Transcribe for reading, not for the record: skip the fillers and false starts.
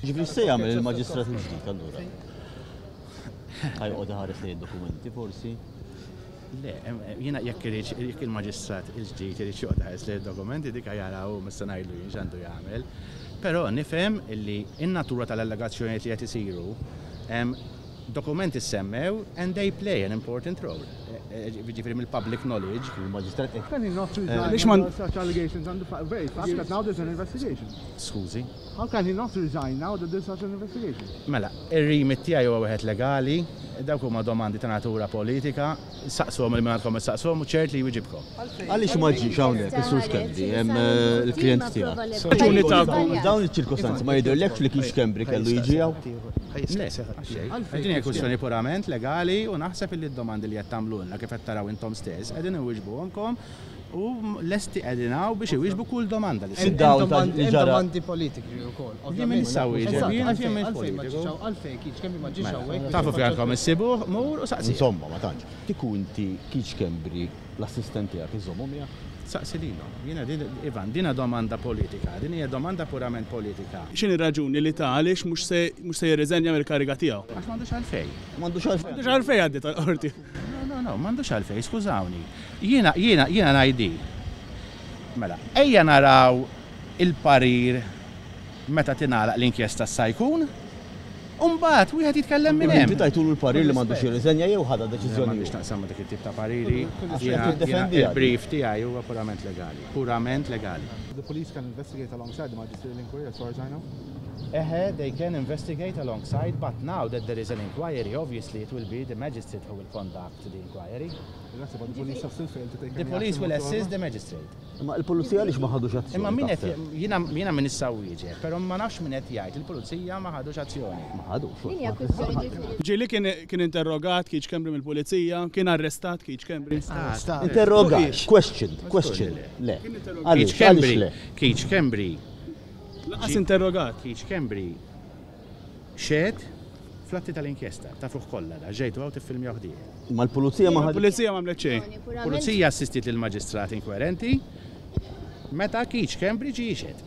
Ġifieri x'se jagħmel il-Maġistrat il-ġdid allura? Ħa joqgħod iħares lejn id-dokumenti forsi? Le, jiena jekk irid jekk il-Maġistrat il-ġdid irid joqgħod iħares lejn id-dokumenti dik jara hu mhux se ngħidlu jien x'għandu jagħmel. Però nifhem illi n-natura tal-allegazzjonijiet li qed isiru dokumenti ssemmew and they play an important role. Jiġifieri mill-public knowledge. Il-Maġistrat qed. Can he not resign under such allegations and the very fact that now there's an investigation? Skużi? How can he not resign now that there's such an investigation? Mela, ir-remit tiegħi huwa wieħed legali, dawk huma domandi ta' natura politika, saqsuhom lil min għandkom issaqsuhom u ċert li jwiġibkom. Għaliex ma ġiex hawnhekk is-Sur Schembri, il-klijent tiegħek? Raġuni tagħkom. F'dawn iċ-ċirkostanzi ma jidhirlekx li Keith Schembri kellu jiġi hawn? Le, għax xejn. Din hija kwistjoni purament legali u naħseb illi d-domandi li qed tagħmlulna kif qed taraw intom stess qegħdin inwiġbuhomkom u lesti qegħdin hawn biex iwieġbu kull domanda li ssir. Fid-dawl ta' li Hemm ġara. domandi politiki wkoll, Jien ovvjament. m'iniex sa wieġeb, Eżatt, jien għalfejn jien m'iniex għalfejn ma politiku. ġiex hawn, għalfejn Keith Schembri ma ġiex Mela, hawnhekk biex tafu fejn jiffaċċja għandkom issibuh, mur u saqsih. Insomma, ma tantx. Kieku inti Keith Schembri l-assistent tiegħek iżżommhu miegħek? Saqsi lilhom. Jiena din, Ivan, din hija domanda politika, din hija domanda purament politika. X'inhi r-raġuni li ta għaliex mhux se mhux se jirriżenja mill-kariga tiegħu? Għax m'għandux għalfejn. M'għandux għalfejn. M'għandux għalfejn għaddiet għall-qorti. No, no, no, m'għandux għalfejn, skużawni. Jiena, jiena, jiena ngħid Mela, ejja naraw il-parir meta tingħalaq l-inkjesta sa jkun, u mbagħad wieħed jitkellem minn hemm. Inti tajtulu l-parir li m'għandux jirriżenja jew ħadha deċiżjoni M'għandix hu? naqsam ma' dik it-tip ta' pariri. Għax qed Jiena, tiddefendiha din. il-brief tiegħi huwa purament legali. Purament legali. The police can investigate alongside the magisterial inquiry as far as I know. Eħe, they can investigate alongside, but now that there is an inquiry, obviously it will be the magistrate who will conduct the inquiry. That's but the police have still failed to take The any police action will whatsoever. assist the magistrate. Imma il-pulizija għaliex ma ħadux azzjoni? Imma min qed taħseb? jiena jiena min issa wieġeb, però ma nafx min qed jgħid il-pulizija ma ħadux azzjoni. Ma ħadux. Din hija kwistjoni ġifieri. Ġieli kien kien interrogat Keith Schembri mill-pulizija, kien arrestat Keith Schembri. Interrogat, question, question. Le. Keith Għaliex, għaliex Schembri, le? Keith Schembri, Lanqas interrogat. Keith Schembri xehed fl-atti tal-inkjesta, tafuh kollha da, ġejtu hawn tiffilmjaw ħdieħ. Ma l-pulizija ma ħadux. Il-pulizija ma għamlet xejn. Pulizija assistiet lill-maġistrat inkwerenti meta Keith Schembri ġie jixhed.